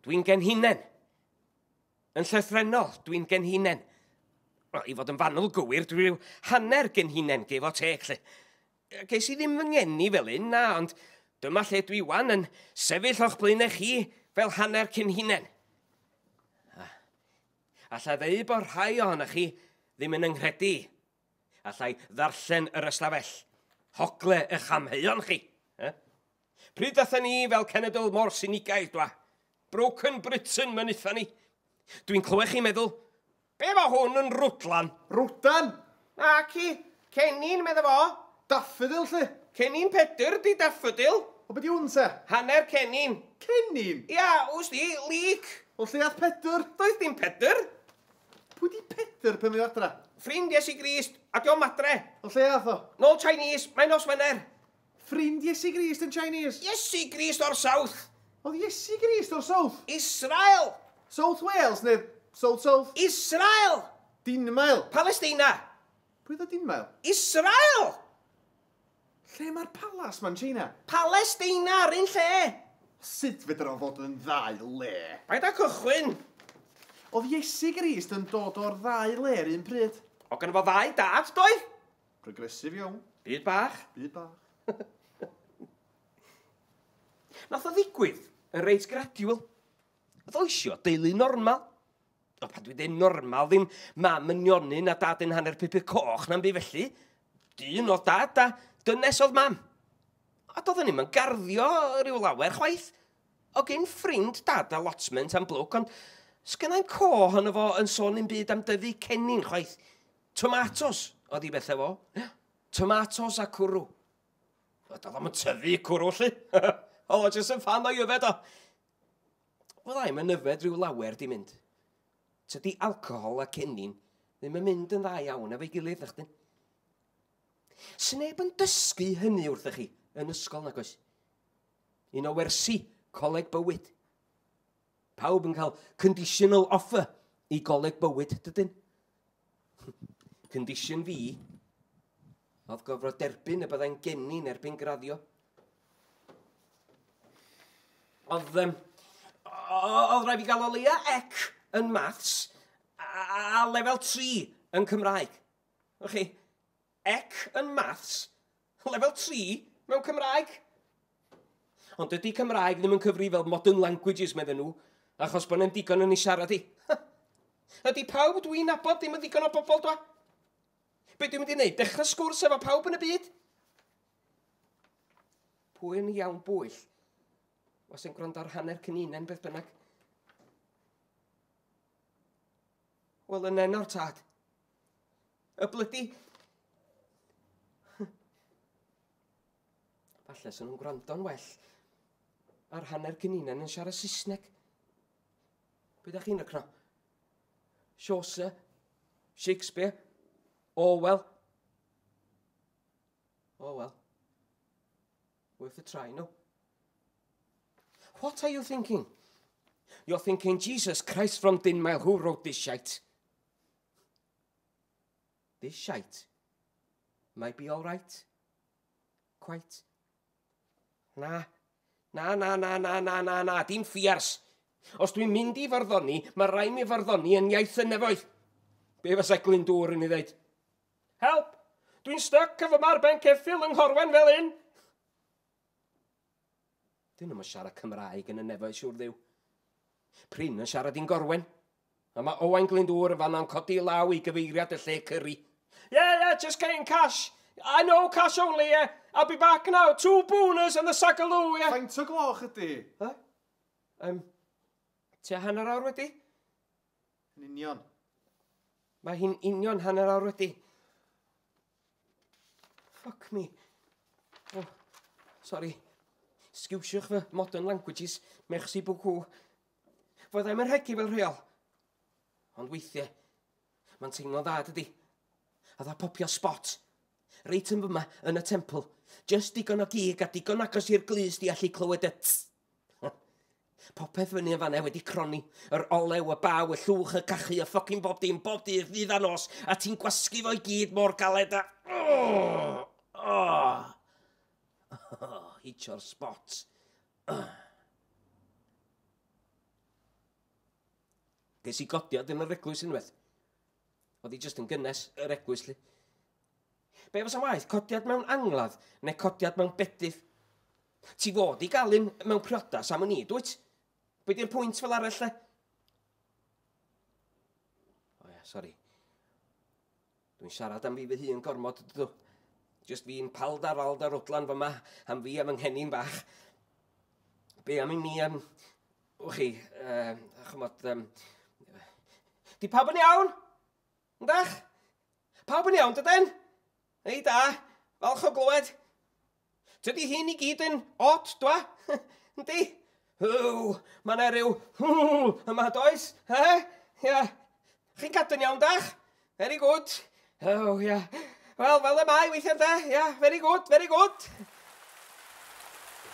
Dwi'n genhinen. Yn llythrennol, dwi'n genhinen. Wel, i fod yn fanwl gywir, dwi rhyw hanner genhinen, give or take, 'lly. Ces i ddim fy ngeni fel un, na, ond dyma lle dwi wan yn sefyll o'ch blaenau chi fel hanner cenhinen. Alla ddeud bod rhai ohonoch chi ddim yn 'nghredu. Allai ddarllen yr ystafell. Hogle eich amheuon chi. Eh? Pryd ddathen ni fel cenedl mor sinigaidd, dwa? Broken Britain, mynitha ni. Dwi'n clywed chi'n meddwl, be mae hwn yn rwdlan? Rwdan! Naci, cennin, medda fo. Daffodil, lle? Cennin Pedr di daffodil. O, be di hwn, te? Hanner cennin. Cennin? Ia, wst di, leek. O lle ath Pedr? Doedd dim Pedr. Pwy di Pedr pan mae o adra? Ffrind Iesu Grist, a dio'm adre. O lle ath o? Nôl Chinese, mae'n nos Wener. Ffrind Iesu Grist yn Chinese? Iesu Grist o'r South. Oedd Iesu Grist o'r South? Israel. South Wales neu South South? Israel. Dinmael? Palestina. Pwy oedd o Dinmael? Israel. Lle mae'r palas ma'n China? Palestina, yr un lle. Sut fedra o fod yn ddau le? Paid â cychwyn. Oedd Iesu Grist yn dod o'r ddau le yr un pryd? O gynno fo ddau dad, doedd? Progressive iawn. Byd bach. Byd bach. Nath o ddigwydd yn reit gradual. Oedd o isio deulu normal. O, pan dwi'n dweud normal, ddim mam yn nionyn a dad yn hanner pupur coch na'n byd felly. Dyn oedd dad a dynes oedd mam. A doedden ni'm yn garddio rhyw lawer chwaith. O gen ffrind dad allotment am blwc, ond sgynnai'm co ohono fo yn sôn un byd am dyfu cennin chwaith. Tomatos oedd i bethau fo. Tomatos a cwrw. O, doedd o'm yn tyfu cwrw, lly. Oedd o jyst yn ffan o'i yfed o. Wel, i'm yn yfed rhyw lawer di mynd. Tydi alcohol a cennin ddim yn mynd yn dda iawn efo'i gilydd, nachdyn. Sneb yn dysgu hynny wrthych chi yn ysgol, nag oes? Un o wersi coleg bywyd. Pawb yn cael conditional offer i goleg bywyd, dydyn? Condition fi oedd gorfod derbyn y byddai'n gennin erbyn graddio. Oedd rhaid fi gael o leia C yn maths a lefel 3 yn Cymraeg. Wch chi, C yn maths, lefel 3 mewn Cymraeg. Ond dydy Cymraeg ddim yn cyfri fel modern languages, medden nhw, achos bod nhw'n digon yn ei siarad i. Ydy pawb dwi'n nabod ddim yn ddigon o bobl, dwa? Be dwi'n mynd i wneud? Dechrau sgwrs efo pawb yn y byd? Pwy yn iawn bwyll? Was yn gwrando ar hanner cyninen beth bynnag. Wel, yn enw'r tad. Y blydi. Falle sy'n nhw'n gwrando'n well ar hanner cyninen yn siarad Saesneg. Be da chi'n rycno? Chaucer? Shakespeare? Orwell? Orwell. Worth a try, no? What are you thinking? You're thinking, Jesus Christ from Dinmael, who wrote this shite? This shite might be all right. Quite. Na. Na, na, na, na, na, na, na, dim ffiars. Os dwi'n mynd i farddoni, mae rhaid mi farddoni yn iaith y nefoedd. Be fysa Glyndŵr yn ei ddeud? Help! Dwi'n stuck efo mar ben ceffyl yng Nghorwen fel un. Dyn nhw'n siarad Cymraeg yn y nefoedd, siŵr ddiw. Prin yn siarad i'n Gorwen. A mae Owain Glyndŵr yn fanna'n codi law i gyfeiriad y lle cyri. Yeah, just getting cash. I know, cash only, yeah. I'll be back now. Two booners and the sagaloo, yeah. Faint o gloch ydy? Ha? Tua hanner awr wedi? Yn union. Mae hi'n union hanner awr wedi. Fuck me. Oh, sorry. Sgiwsiwch fy modern languages. Merci beaucoup. Fyddai'm yn rhegi fel rheol. Ond weithiau, mae'n teimlo'n dda, dydy. A dda popio spot. Reit yn fyma, yn y temple. Just digon o gig a digon agos i'r glust i allu clywed y tss. Popeth fyny yn fanna wedi cronni. Yr olew, y baw, y llwch, y cachu, y ffocin bob dim, bob dydd, ddydd a nos, a ti'n gwasgu fo i gyd mor galed a. Oh, oh. Oh, hitio'r spot. Oh. Ges i godiad yn yr eglwys unwaith. Oedd hi jyst yn gynnes yr eglwys, 'lly. Be fysa'n waeth, codiad mewn angladd neu codiad mewn bedydd? Ti fod i gael un mewn priodas am wn i, dwyt? Be di'r pwynt fel arall, 'de? O ia, sori. Dwi'n siarad am fi fy hun gormod, dydw. Jyst fi'n paldar alda rwdlan fyma am fi a fy nghennin bach. Be am i mi, wch chi, chymod, di pawb yn iawn? Yndach? Pawb yn iawn, dydyn? Ei da, falch o glywed. Tydi hyn i gyd yn od, dwa? Yndi? Hw, mae yna rhyw hw yma, does? He? Ia. Chi'n cadw'n iawn, dach? Very good. Oh, ia. Wel, fel y mae weithiau, de? Ia, very good, very good.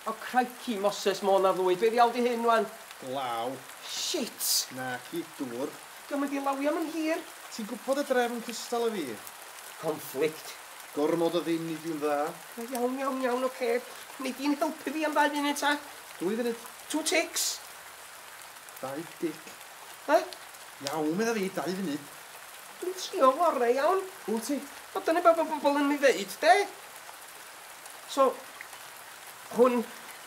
O, crikey, Moses, Môn a Lwyd. Be ddiawl di hyn, wan? Glaw. Shit! Na, ci dŵr. Dio'm mynd i lawio am yn hir. Ti'n gwybod y drefn cystal â fi. Conflict. Gormod o ddim nid yw'n dda. Iawn, iawn, iawn, oce. Okay. Nei di'n helpu fi am 2 funud, ta? 2 funud. 2 ticks. Dau dic. Ha? Iawn, medda fi, 2 funud. Dwi'n trio ngorau, iawn. Wyt ti? O, dyna beth mae bobl yn ei ddeud, de? So, hwn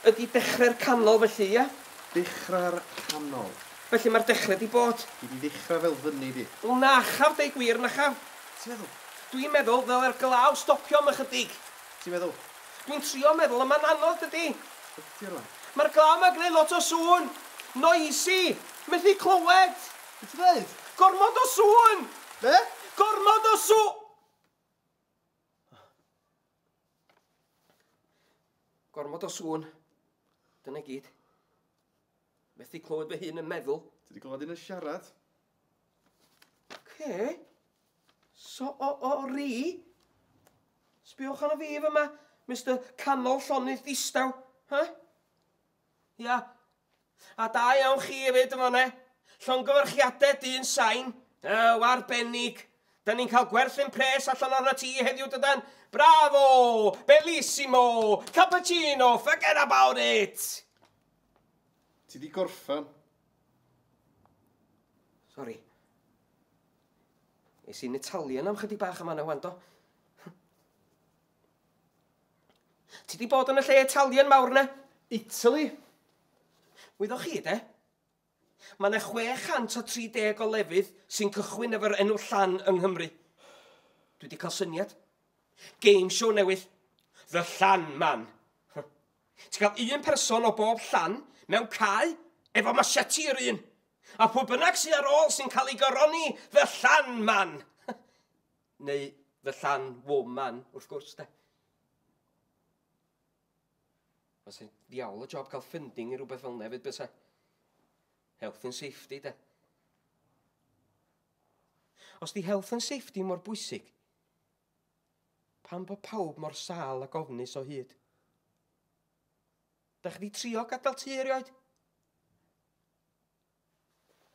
ydy dechrau'r canol felly, ia? Dechrau'r canol. Felly mae'r dechrau di bod. Di di ddechrau fel fyny di. Wel, na chaf, deud gwir, na chaf. Ti'n meddwl? Dwi'n meddwl ddyle'r glaw stopio am ychydig. Ti'n meddwl? Dwi'n trio meddwl, ond mae'n anodd, dydy. Ydy rwan. Mae'r glaw yma'n gwneud lot o sŵn. Noisy. Methu clywed. Be ti'n dweud? Gormod o sŵn. Be? Gormod o sŵn. Gormod o sŵn. Dyna gyd. Methu clywed fy hun yn meddwl. Ti di glywed un yn siarad? Ce? So o ri? Sbiwch arno fi fyma, Mr Canol Llonydd Distaw. Ha? Ia. A da iawn chi hefyd yma ne. Llongyfarchiadau dyn sain. Ew, arbennig. Da ni'n cael gwerthu'n pres allan arno ti heddiw dydan. Bravo! Bellissimo! Cappuccino! Forget about it! Ti di gorffan. Sorry. Es i'n Italian am chydig bach yma na wan, do. Ti di bod yn y lle Italian mawr na? Italy? Wyddoch chi, de? Mae yna 630 o lefydd sy'n cychwyn efo'r enw Llan yng Nghymru. Dwi wedi cael syniad. Game show newydd. The Llan Man. Ti'n cael un person o bob llan mewn cae efo machete yr un. A pwy bynnag sydd ar ôl sy'n cael ei goroni The Llan Man. Neu The Llan Woman, wrth gwrs, de. Fysa'n ddiawl o job cael funding i rhywbeth fel 'na hefyd, bysa. Health and safety, de. Os di health and safety mor bwysig, pam bod pawb mor sâl ac ofnus o hyd? Da chi di trio gadael tŷ erioed?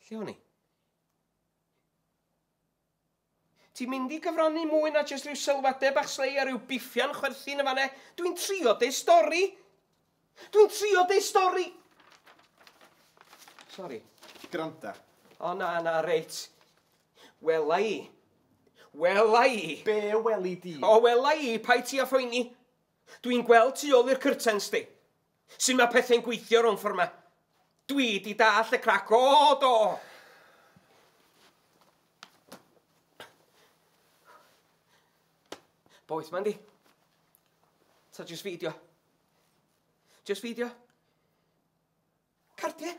Lle o'n i? Ti'n mynd i gyfrannu mwy na jyst rhyw sylwadau bach slei a rhyw biffian chwerthin yma ne? Dwi'n trio deud stori. Dwi'n trio deud stori. Sori. Granda. O na, na, reit. Wela i. Wela i. Be weli di? O, wela i, paid ti a phoeni. Dwi'n gweld tu ôl i'r curtains di. Sut mae pethau'n gweithio rownd ffordd ma. Dwi di dall y crac, o do! Boeth ma'n di. Ta just fideo. Just fideo. Cardiau.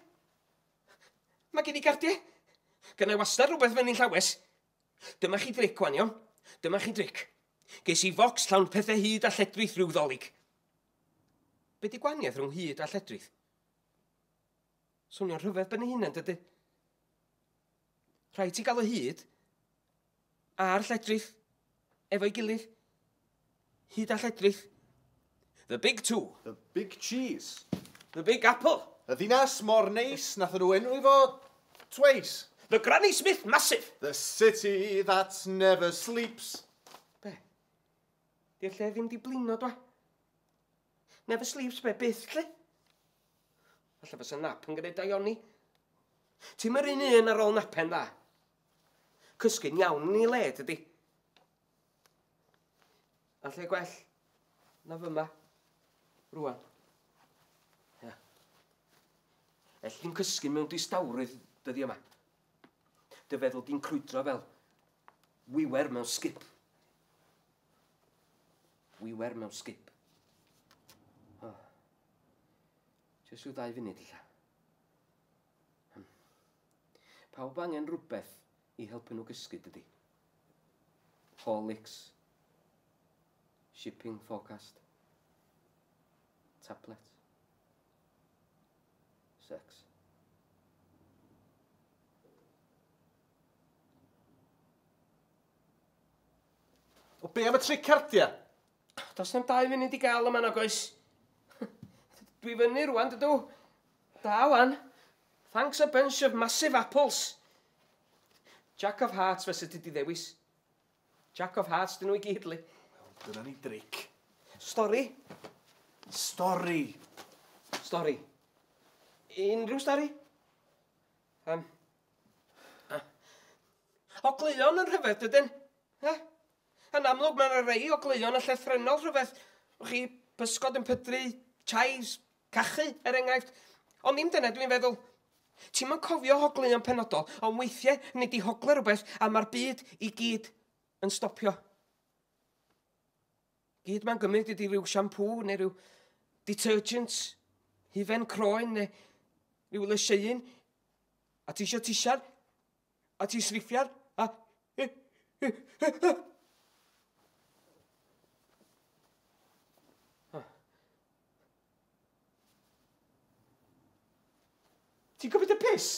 Mae gen i cardiau. Gynna i wastad rhywbeth fyny'n llawes. Dyma chi dric, wan, iawn. Dyma chi dric. Ges i focs llawn pethau hud a lledrith rhyw Ddolig. Be di gwahaniaeth rhwng hud a lledrith? Swnio'n rhyfedd ben ei hunan, dydy? Rhaid ti gael y hud a'r lledrith efo'i gilydd. Hud a lledrith. The big two. The big cheese. The big apple. Y ddinas mor neis, nath nhw enwi fo twice. The Granny Smith Massive. The city that never sleeps. Be? Di'r lle ddim di blino, dwa. Never sleeps be, byth, lle? Falle fysa nap yn gwneud daioni. Ti'm yr un un ar ôl napen dda. Cysgu'n iawn yn ei le, dydy. A lle gwell na fyma, rwan. Ia. Elli di'm cysgu mewn distawrwydd dyddia yma. Dy feddwl di'n crwydro fel wiwer mewn sgip. Wiwer mewn sgip. Oh. Jyst rhyw ddau funud ella. Pawb angen rhywbeth i helpu nhw gysgu, dydy? Horlicks. Shipping forecast. Tablet. Sex. O be am y tric cardia? Does na'm 2 funud i gael yma nag oes. Dwi fyny rwan, dydw. Da wan. Thanks a bunch of massive apples. Jack of Hearts fysa ti di ddewis. Jack of Hearts dyn nhw i gyd, li. Wel, dyna ni dric. Stori. Stori. Stori. Unrhyw stori? Ogleuon yn rhyfedd, dydyn? Eh? Yn amlwg, mae yna rei ogleuon yn llythrennol rhyfedd. Chi, pysgod yn pydru, chives, cachu, er enghraifft. Ond ddim dyna dwi'n feddwl. Ti'm yn cofio hogleuon penodol, ond weithiau nid i hogle rhywbeth a mae'r byd i gyd yn stopio. Gyd mae'n gymryd ydi rhyw siampŵ neu rhyw detergent, hufen croen neu rhyw lysieuyn, a ti isio tisian, a ti sriffian, a... Ti'n cymryd y piss?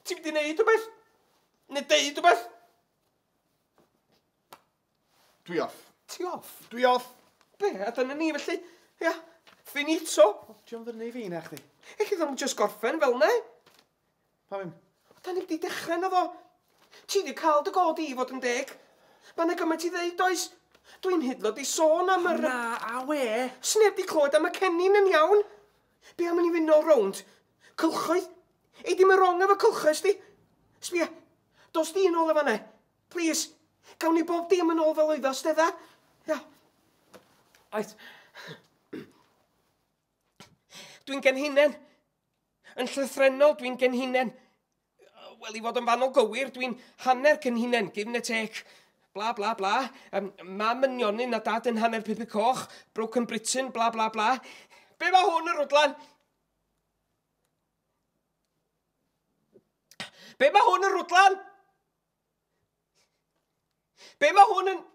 Ti'n mynd i wneud rhywbeth? Neu deud rhywbeth? Dwi off. Ti off? Dwi off. Be, a dyna ni felly? Ia, finito. Dio'n fyny i fi na chdi. Ech i ddim just gorffen fel ne? Pam im? Da ni wedi dechrau na fo. Ti wedi cael dy god i fod yn deg. Mae yna gymaint i ddeud, oes? Dwi'n hydlo di sôn am yr... Na, a we. Sneb di clywed am y cennin yn iawn. Be am i ni fynd nôl rownd? Cylchoedd? Ei dim yn wrong efo cylchoedd, sti? Sbia, dos di yn ôl efo ne. Please, gawn ni bob dim yn ôl fel oedd o, stedda. Ia. Oed. Dwi'n genhinen. Yn llythrennol, dwi'n genhinen. Wel, i fod yn fanol gywir, dwi'n hanner cenhinen, give and take. Bla, bla, bla. Mam yn nionyn a dad yn hanner pupur coch. Broken Britain, bla, bla, bla. Be mae hwn yn rwdlan? Be mae hwn yn rwdlan? Be mae hwn yn...